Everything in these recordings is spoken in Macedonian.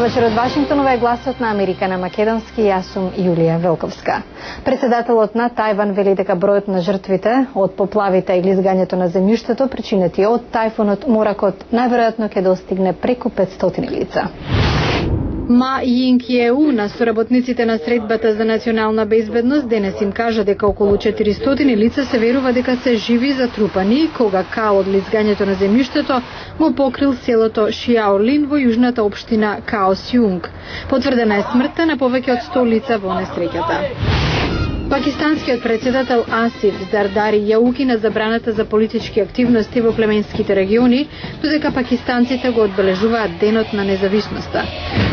вечер од Вашингтон, ова е гласот на Америка на македонски, јас сум Јулија Велковска. Председателот на Тајван вели дека бројот на жртвите од поплавите и лизгањето на земјиштето причинети од тајфунот Моракот најверојатно ќе достигне преку 500 лица. Ма Јинг-Јеу на соработниците на Средбата за национална безбедност денес им кажа дека околу 400 лица се верува дека се живи затрупани кога као од лизгањето на земјиштето го покрил селото Шиаолин во јужната општина Каосјунг. Потврдена е смртта на повеќе од 100 лица во несреќата. Пакистанскиот председател Асиф Зардари ја укина забраната за политички активности во племенските региони, додека пакистанците го одбележуваат денот на независноста.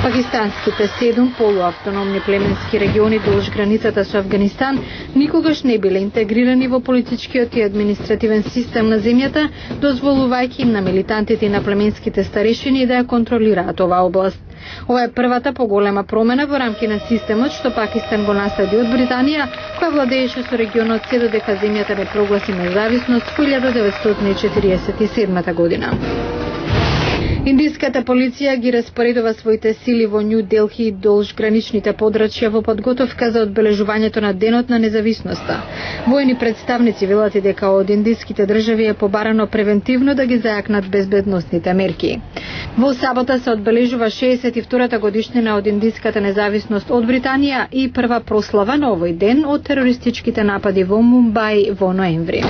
Пакистанските 7 полуавтономни племенски региони долж границата со Афганистан никогаш не биле интегрирани во политичкиот и административен систем на земјата, дозволувајќи им на милитантите и на племенските старешини да ја контролираат оваа област. Ова е првата поголема промена во рамки на системот што Пакистан го наследи од Британија, која владееше со регионот се додека земјата не прогласи независност во 1947 година. Индиската полиција ги распоредува своите сили во Њу Делхи долж граничните подрачја во подготовка за одбележувањето на денот на независноста. Војни представници велат и дека од индиските држави е побарано превентивно да ги зајакнат безбедносните мерки. Во сабота се одбележува 62-та годишнина од индиската независност од Британија и прва прослава на овој ден од терористичките напади во Мумбај во ноември.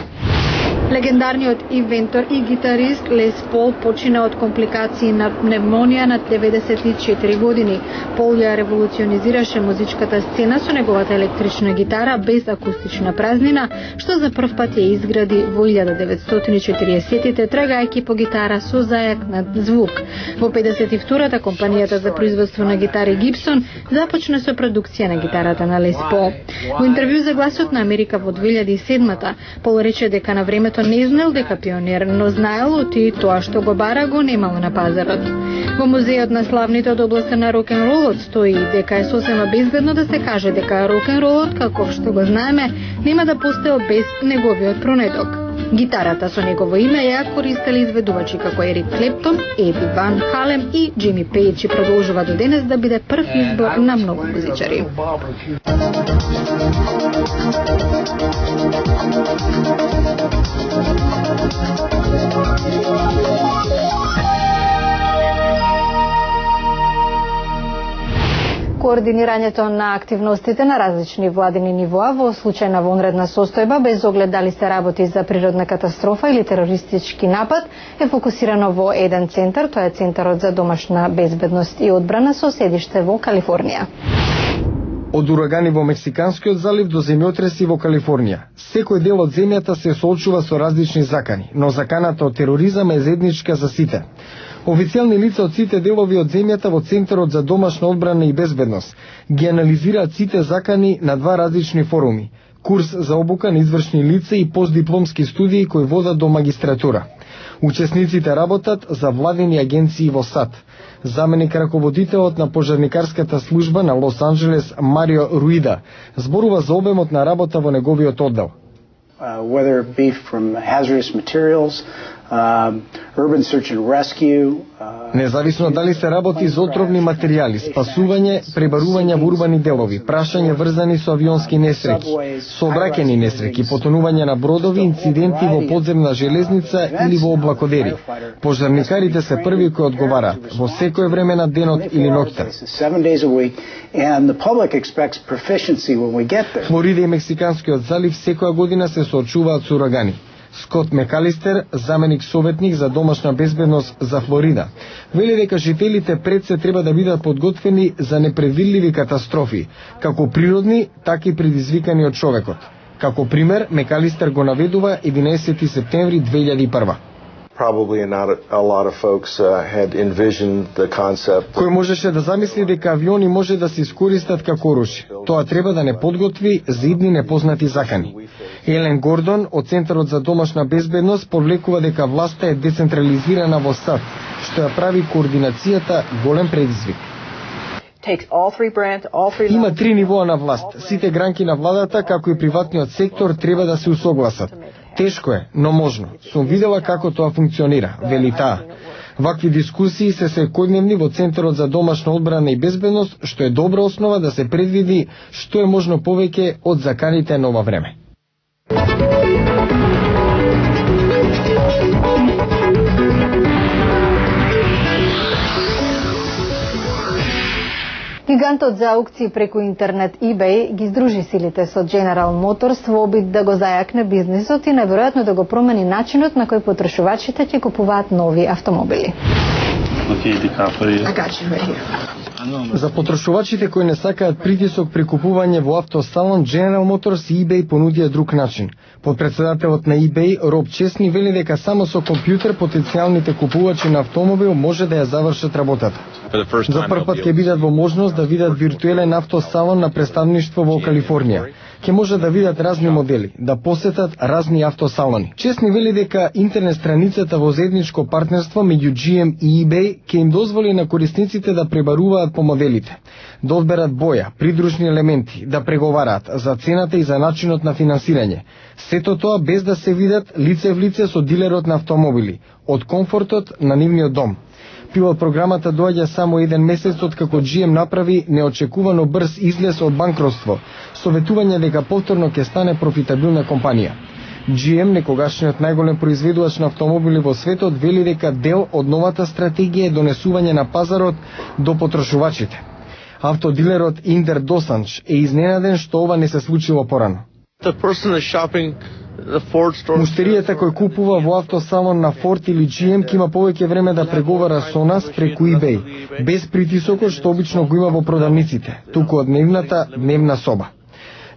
Легендарниот инвентор и гитарист Лес Пол почина од компликации на пневмонија на 94 години. Пол ја револуционизираше музичката сцена со неговата електрична гитара без акустична празнина, што за прв пат ја изгради во 1940-тите, трагајќи по гитара со зајакнат звук. Во 52-та компанијата за производство на гитари Гибсон започна со продукција на гитарата на Лес Пол. Во интервју за Гласот на Америка во 2007-та, Пол рече дека на времето не знал дека пионер, но знаел и тоа што го бара го немало на пазарот. Во музејот на славните од областта на рок-н-ролот стои дека е сосема безбедно да се каже дека рок-н-ролот, како што го знаеме, нема да постоел без неговиот пронедок. Гитарата со негово име ја користели изведувачи како Ерик Клептон, Еди Ван Халем и Џими Пејдж и продолжува до денес да биде прв избор на многу музичари. Координирањето на активностите на различни владини нивоа во случај на вонредна состојба, без оглед дали се работи за природна катастрофа или терористички напад, е фокусирано во еден центар, тоа е Центарот за домашна безбедност и одбрана со седиште во Калифорнија. Од урагани во Мексиканскиот залив до земјотреси во Калифорнија. Секој дел од земјата се соочува со различни закани, но заканата од тероризам е заедничка за сите. Официјални лица од сите делови од земјата во Центарот за домашна одбрана и безбедност ги анализираат сите закани на два различни форуми: курс за обука на извршни лица и постдипломски студии кои водат до магистратура. Учесниците работат за владени агенции во САД. Заменик раководителот на пожарникарската служба на Лос Анџелес Марио Руида зборува за обемот на работа во неговиот оддел. Whether it be from hazardous materials, urban search and rescue. Независно дали се работи за отровни материјали, спасување, пребарување во урбани делови, прашање врзани со авионски несреќи, сообраќајни несреќи, потонување на бродови, инциденти во подземна железница или во облакодери. Пожарникарите се први кои одговараат во секое време на денот или ноќта. Флорида и Мексиканскиот залив секоја година се соочуваат со урагани. Скот Мекалистер, заменик советник за домашна безбедност за Флорида, вели дека жителите пред се треба да бидат подготвени за непредвидливи катастрофи, како природни, така и предизвикани од човекот. Како пример, Мекалистер го наведува 11 септември 2001. Probably not a lot of folks had envisioned the concept. Кој можеше да замисли дека авиони може да се искористат како оружје? Тоа треба да не подготви за идни непознати закани. Елен Гордон од Центарот за домашна безбедност повлекува дека власта е децентрализирана во САД, што ја прави координацијата голем предизвик. Има 3 нивоа на власт. Сите гранки на владата, како и приватниот сектор, треба да се усогласат. Тешко е, но можно. Сум видела како тоа функционира, вели таа. Вакви дискусии се секојдневни во Центарот за домашна одбрана и безбедност, што е добра основа да се предвиди што е можно повеќе од заканите на ова време. Гигантот за аукции преку интернет eBay ги здружи силите со General Motors во обид да го зајакне бизнисот и наверојатно да го промени начинот на кој потрошувачите ќе купуваат нови автомобили. За потрошувачите кои не сакаат притисок при купување во автосалон, General Motors и eBay понудија друг начин. Подпредседателот на eBay, Роб Чесни, вели дека само со компјутер потенцијалните купувачи на автомобил може да ја завршат работата. За прв пат ќе бидат во можност да видат виртуелен автосалон на представништво во Калифорнија. Ќе може да видат разни модели, да посетат разни автосалони. Чесни вели дека интернет страницата во заедничко партнерство меѓу GM и eBay ќе им дозволи на корисниците да пребаруваат по моделите, да одберат боја, придружни елементи, да преговараат за цената и за начинот на финансирање. Сето тоа без да се видат лице в лице со дилерот на автомобили, од комфортот на нивниот дом. Пилот програмата доаѓа само еден месец од како GM направи неочекувано брз излез од банкротство, советување дека повторно ќе стане профитабилна компанија. GM, некогашниот најголем произведувач на автомобили во светот, вели дека дел од новата стратегија е донесување на пазарот до потрошувачите. Автодилерот Индер Досанч е изненаден што ова не се случило порано. Муштеријата кој купува во автосалон на Ford или GM ќе има повеќе време да преговара со нас преку eBay, без притисокот што обично го има во продавниците, туку од нивната дневна соба.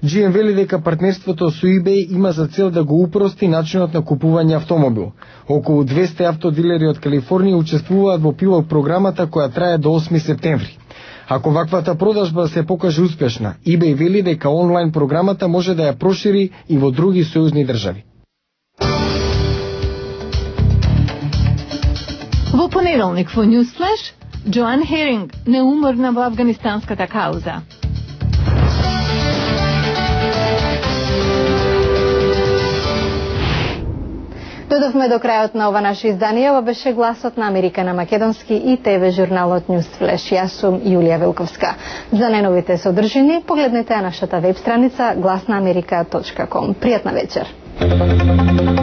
GM вели дека партнерството со eBay има за цел да го упрости начинот на купување автомобил. Околу 200 автодилери од Калифорнија учествуваат во пилот програмата која трае до 8 септември. Ако ваквата продажба се покаже успешна, eBay вели дека онлайн програмата може да ја прошири и во други сојузни држави. Во понеделник во Newsflash, Джоан Херинг не умрна во афганистанската кауза. Додовме до крајот на ова наше издание. Ова беше Гласот на Америка на македонски и ТВ журналот Newsflash. Јас сум Јулија Велковска. За најновите содржини погледнете на нашата веб страница glasnaamerika.com. Пријатна вечер.